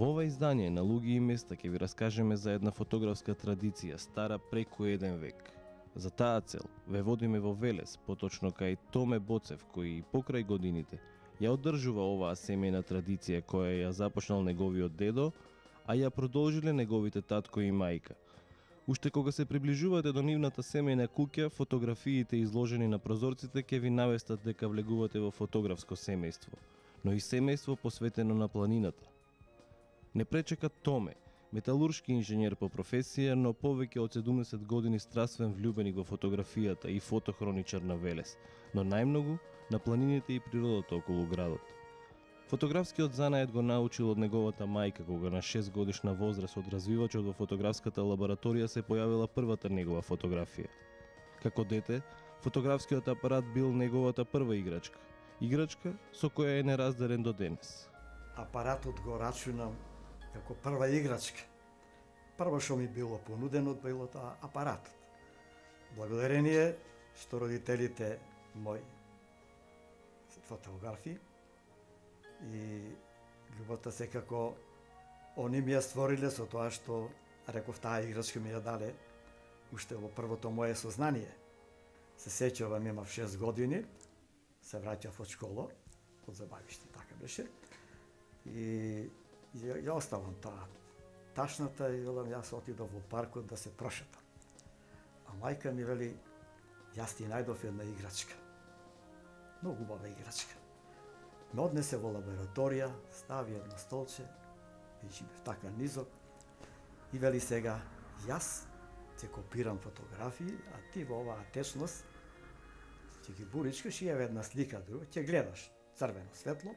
Во ова издание на Луѓе и места ќе ви раскажеме за една фотографска традиција стара преку 1 век. За таа цел ве водиме во Велес, поточно кај Томе Боцев, кој покрај годините ја одржува оваа семејна традиција која ја започнал неговиот дедо, а ја продолжиле неговите татко и мајка. Уште кога се приближувате до нивната семејна куќа, фотографиите изложени на прозорците ќе ви навестат дека влегувате во фотографско семејство, но и семејство посветено на планината. Не пречека Томе, металуршки инженер по професија, но повеќе од 70 години страствен влюбеник во фотографијата и фотохроничар на Велес, но најмногу на планините и природата околу градот. Фотографскиот занаед го научил од неговата мајка, кога на 6 годишна возраст од развивачот во фотографската лабораторија се појавила првата негова фотографија. Како дете, фотографскиот апарат бил неговата прва играчка. Играчка со која е неразделен до денес. Апаратот го рачунам како прва играчка. Прво што ми било понудено било тоа апаратот. Благодарение што родителите мои фотографи и љубовта секако они ми ја створиле со тоа што реков таа играчка ми ја дале уште во првото мое сознание. Се сеќавам, имав 6 години, се враќав од школа, од забавиште, така беше. И ја оставам таа ташната и велам јас отидов во паркот да се прошетам. А мајка ми вели, јас ти најдов една играчка. Многу убава играчка. Ме однесе во лабораторија, стави едно столче, и живеев така низок, и вели сега, јас ќе копирам фотографии, а ти во оваа течност ќе ги буричкаш и еве една слика друга, ќе гледаш црвено светло,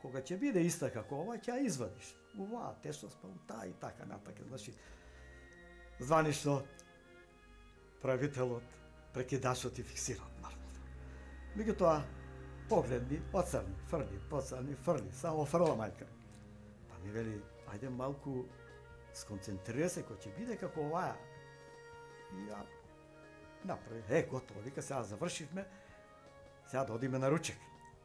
кога ќе биде иста како ова, ќе ја извадиш. Оваа течност, па таа и така натака. Значи, званишно правителот, прекидачот и фиксират маркот. Меѓутоа, погледни, оцрни, фрли, поцрни, фрли, само фрла мајка. Па ми вели, ајде малку сконцентрира се, кој ќе биде како оваа. И ја направи, готово, вика, сега завршивме, сега да одиме на ручек.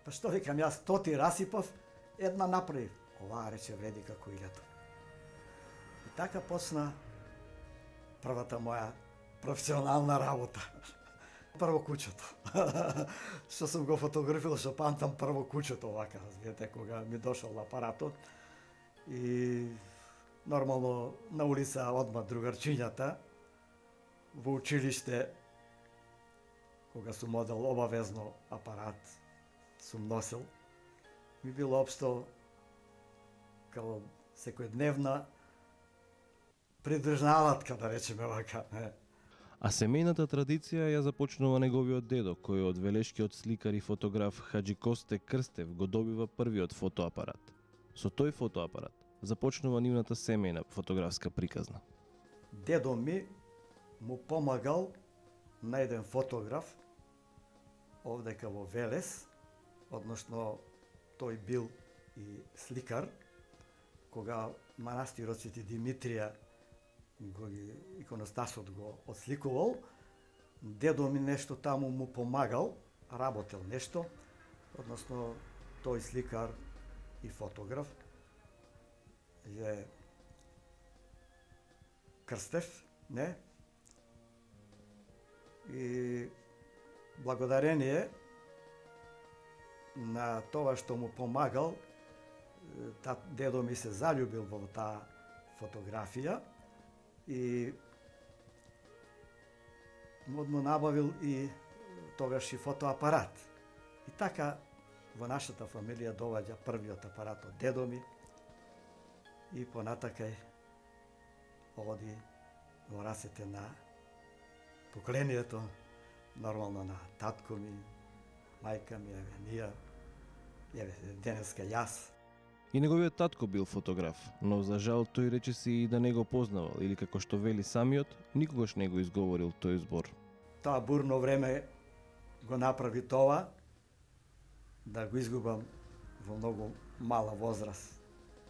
Па што викам, јас 100 расипав, една направив. Оваа рече вреди како 1000. И така почна првата моја професионална работа. Прво куќето. Што сум го фотографирал, што памтам прво куќето овака, разбирате, кога ми дошол апаратот. И нормално на улица одма другарчињата, во училиште, кога сум модел обавезно апарат, сум носил, ми било општо као секојдневна придржнаватка, да речеме вака. А семејната традиција ја започнува неговиот дедо, кој од велешкиот сликар и фотограф Хаџи Косте Крстев го добива првиот фотоапарат. Со тој фотоапарат започнува нивната семејна фотографска приказна. Дедо ми му помагал на еден фотограф овдека во Велес, односно тој бил и сликар, кога манастирот Свети Димитрија го иконостасот го отсликувал, дедо ми нешто таму му помагал, работел нешто, односно тој сликар и фотограф е Крстев, не? И благодарение на тоа што му помагал, дедо ми се заљубил во таа фотографија и му набавил и тогаш и фотоапарат. И така во нашата фамилија доваѓа првиот апарат од дедо ми и понатакај оди во расете на поколението, нормално на татко ми, мајка ми, еве ние, еве денеска јас. И неговиот татко бил фотограф, но за жал тој речиси и да не го познавал или како што вели самиот, никогаш не го изговорил тој збор. Тоа бурно време го направи тоа да го изгубам во многу мала возраст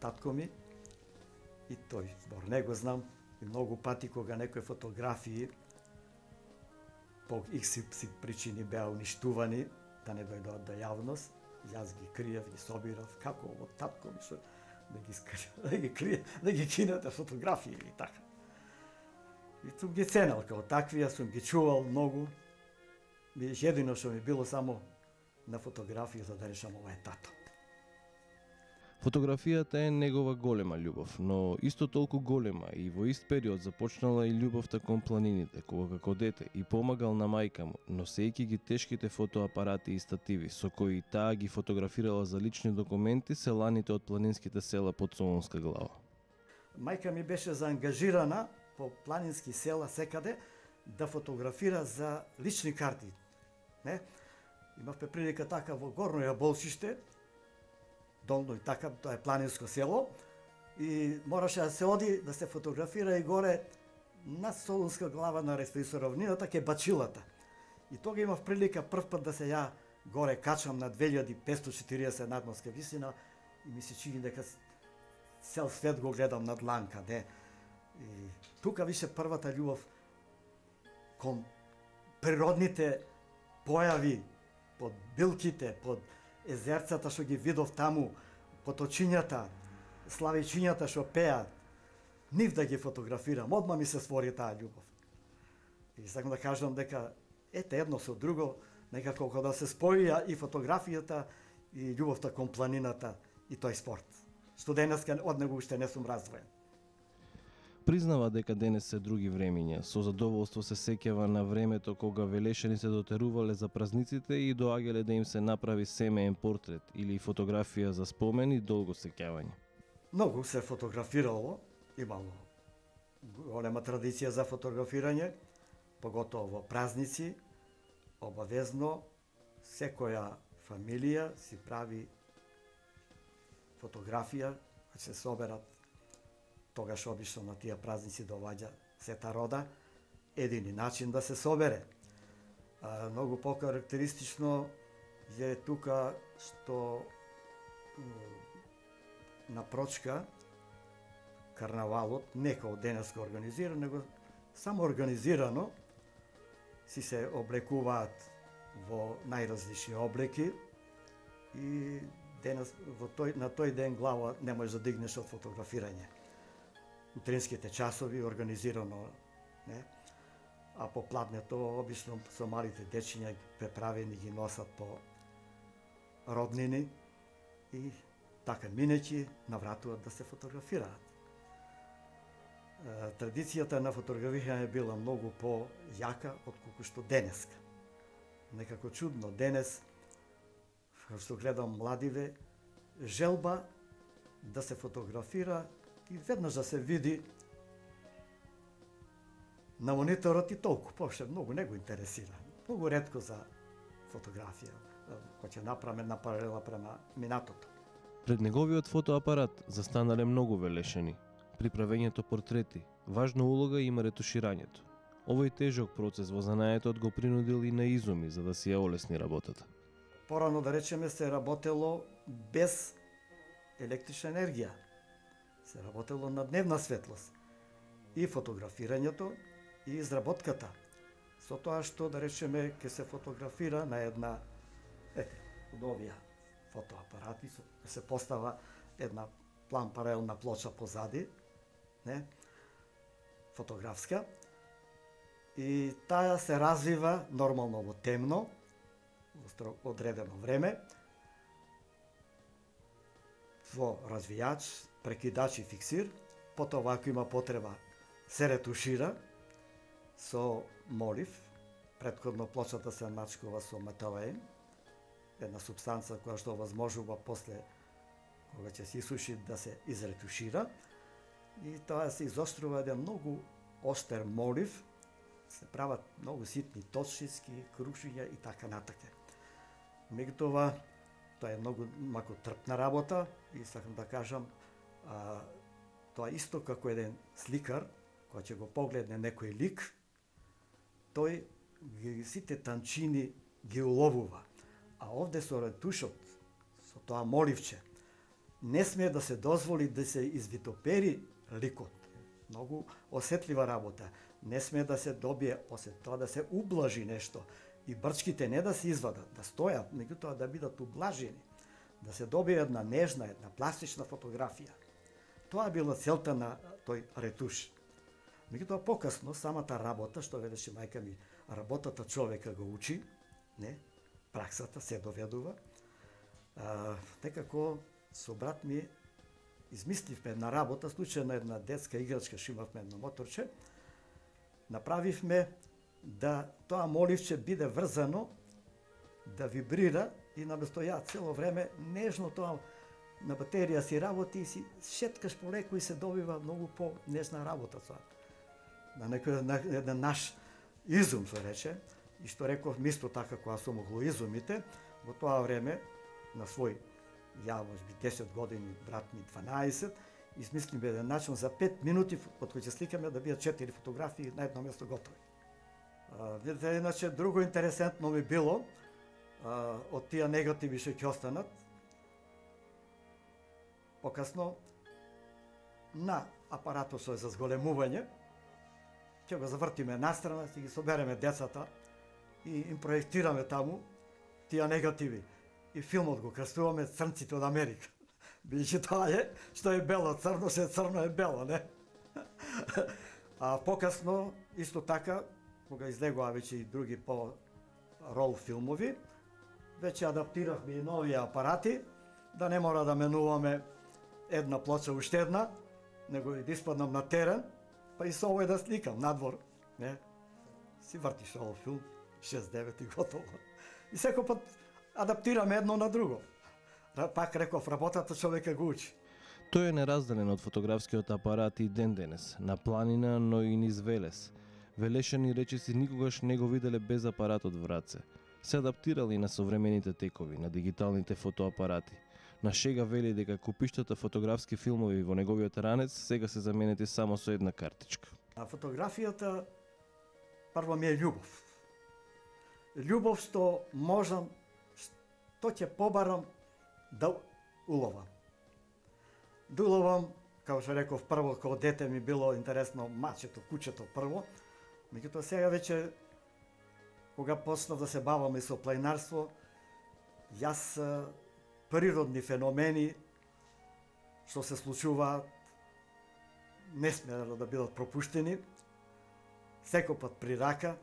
татко ми и тој збор не го знам и многу пати кога некои фотографии по XY причини беа уништувани да не дојдоат до јавност, јас ги криев, ги собирав, како ово татко ми што да ги крие, да ги кинете фотографии и така. И сум ги ценел како такви, јас сум ги чувал многу. Едино што ми било само на фотографија за да решам ова е тато. Фотографијата е негова голема љубов, но исто толку голема и во ист период започнала и љубовта кон планините, кога како дете и помагал на мајка му, носејќи ги тешките фотоапарати и стативи со кои таа ги фотографирала за лични документи селаните од планинските села под Солунска глава. Мајка ми беше заангажирана по планински села секаде да фотографира за лични карти. Не? Имавме прилика така во Горно Јаболшиште, долно и така, тоа е планинско село, и мораше да се оди да се фотографира и горе на Солунска глава на Респисо равнината ке Бачилата. И тога имав прилика прв пат да се ја горе качам на 2540 надморска висина и ми се чини дека цел свет го гледам над дланка, не? И тука више првата љубов кон природните појави, под билките, под езерцата што ги видов таму, поточињата, славичињата што пеат, нив да ги фотографирам, одма ми се створи таа љубов. И сакам да кажам дека ете едно со друго, некако кога да се споија и фотографијата и љубовта кон планината и тој спорт, што денеска од него уште не сум раздвоен. Признава дека денес се други времиња, со задоволство се сеќава на времето кога велешани се дотерувале за празниците и доаѓале да им се направи семеен портрет или фотографија за спомен и долго сеќавање. Многу се фотографирало, имало голема традиција за фотографирање, поготово во празници, обавезно секоја фамилија си прави фотографија, да се соберат. Тогаш обично на тие празници доаѓа сета рода, едини начин да се собере. Многу покарактеристично е тука што на Прочка карнавалот не како денеска организиран, него само организирано си се облекуваат во најразлични облеки и денес на тој ден глава не можеш да дигнеш од фотографирање. Утринските часови организирано, не? А по пладнето обично со малите дечиња преправени ги носат по роднини и така минејќи навратуваат да се фотографираат. Традицијата на фотографирање била многу по-јака отколку што денеска. Некако чудно денес, што гледам младиве, желба да се фотографира и веднаш да се види на мониторот и толку, поше многу не го интересира. Многу ретко за фотографија, кој ќе направи една паралела према минатото. Пред неговиот фотоапарат застанале многу велешани. При правењето портрети, важна улога има ретуширањето. Овој тежок процес во занаетот го принудил и на изуми за да си ја олесни работата. Порано да речеме се работело без електрична енергија. Се работело на дневна светлост. И фотографирањето, и изработката. Со тоа што, да речеме, ќе се фотографира на една, од овие фотоапарати, се постава една план паралелна плоча позади, не, фотографска, и таа се развива нормално во темно, во одредено време, во развијач, прекидач и фиксир, потоа ако има потреба се ретушира со молив, претходно плочата се мачкува со металеин, една супстанца која што овозможува после кога ќе се исуши да се изретушира и тоа се изострува еден многу остер молив, се прават многу ситни точки, крушиња и така натака. Меѓутоа, тоа е многу мако трпна работа и сакам да кажам, тоа исто како еден сликар, кога ќе го погледне некој лик, тој сите танчини ги уловува. А овде со ретушот, со тоа моливче, не смее да се дозволи да се извитопери ликот. Многу осетлива работа. Не смее да се добие тоа да се ублажи нешто. И брчките не да се извадат, да стојат, меѓутоа да бидат ублажени. Да се добие една нежна, една пластична фотографија. Тоа била целта на тој ретуш. Меѓутоа покасно самата работа, што велеше мајка ми, работата човека го учи, не, праксата се доведува. Некако со брат ми измисливме една работа, случајно една детска играчка, што имавме едно моторче, направивме да тоа моливче биде врзано, да вибрира и наместо ја цело време нежно тоа на батерија си работи и си шеткаш полеку и се добива многу по-нежна работа тоа. На еден наш изум се рече, и што реков мисто така кога сум го изумите, во тоа време на свој, ја можеби 10 години, брат ми 12, измислиме еден начин за 5 минути од кои ќе сликаме да бидат 4 фотографии на едно место готови. Видите, иначе друго интересентно ми било од тие негативи што ќе останат. Покасно на апаратот со за зголемување ќе го завртиме настрана, ќе ги собереме децата и им проектираме таму тие негативи. И филмот го крстуваме Црнците од Америка. Бидејќи тоа е, што е бело црно, се црно е бело, не? А покасно, исто така, кога излегоа веќе и други по-рол филмови, веќе адаптиравме и нови апарати, да не мора да менуваме една плоча уште една, него и да испаднам на терен, па и со овој да сликам надвор, не? Си вртиш овој филм, 6-9 и готово. И секој пат адаптираме едно на друго. Пак реков, работата човека го учи. Тој е неразделен од фотографскиот апарат и ден денес, на планина, но и низ Велес. Велешани речиси никогаш не го виделе без апаратот в раце. Се адаптирали на современите текови, на дигиталните фотоапарати. На шега вели дека купиштата фотографски филмови во неговиот ранец сега се заменети само со една картичка. А фотографијата прво ми е љубов. Љубов што можам, што ќе побарам да уловам. Да уловам, како што реков, прво како дете ми било интересно мачето, кучето прво, меѓутоа сега веќе кога почнав да се бавам и со планинарство, јас природни феномени што се случуваат не смеа да бидат пропуштени. Секој пат при рака,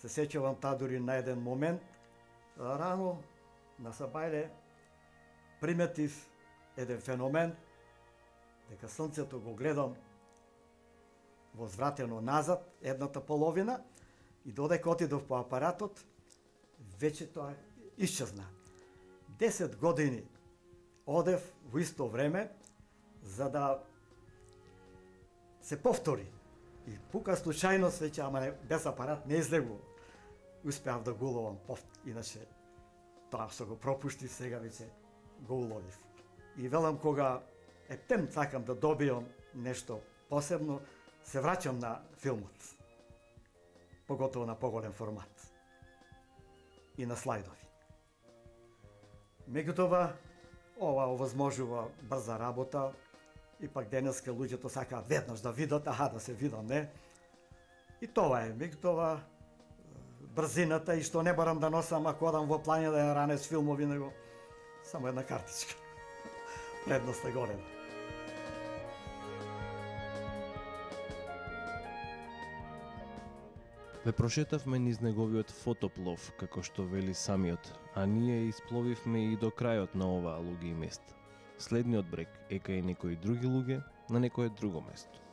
се сеќавам таа дури на еден момент, рано на Сабајле приметив еден феномен, дека сонцето го гледам возвратено назад, едната половина, и додека отидов по апаратот, веќе тоа исчезна. 10 години одев во исто време, за да се повтори. И пука случајност веќе, ама не, без апарат не излегувам. Успеав да го уловам, иначе тоа што го пропуштив, сега веќе го уловив. И велам кога ептем сакам да добијам нешто посебно, се враќам на филмот. Поготово на поголем формат. И на слайдови. Меѓутоа, ова овозможува брза работа, и пак денеска луѓето сакаат веднаш да видат, да се видам, не? И тоа е, меѓутоа, брзината и што не барам да носам ако одам во планина да ранец филмови, него само една картичка. Предност е голема. Ве прошетавме низ неговиот фотоплов, како што вели самиот, а ние испловивме и до крајот на оваа луѓе и места. Следниот брег е кај некои други луѓе на некое друго место.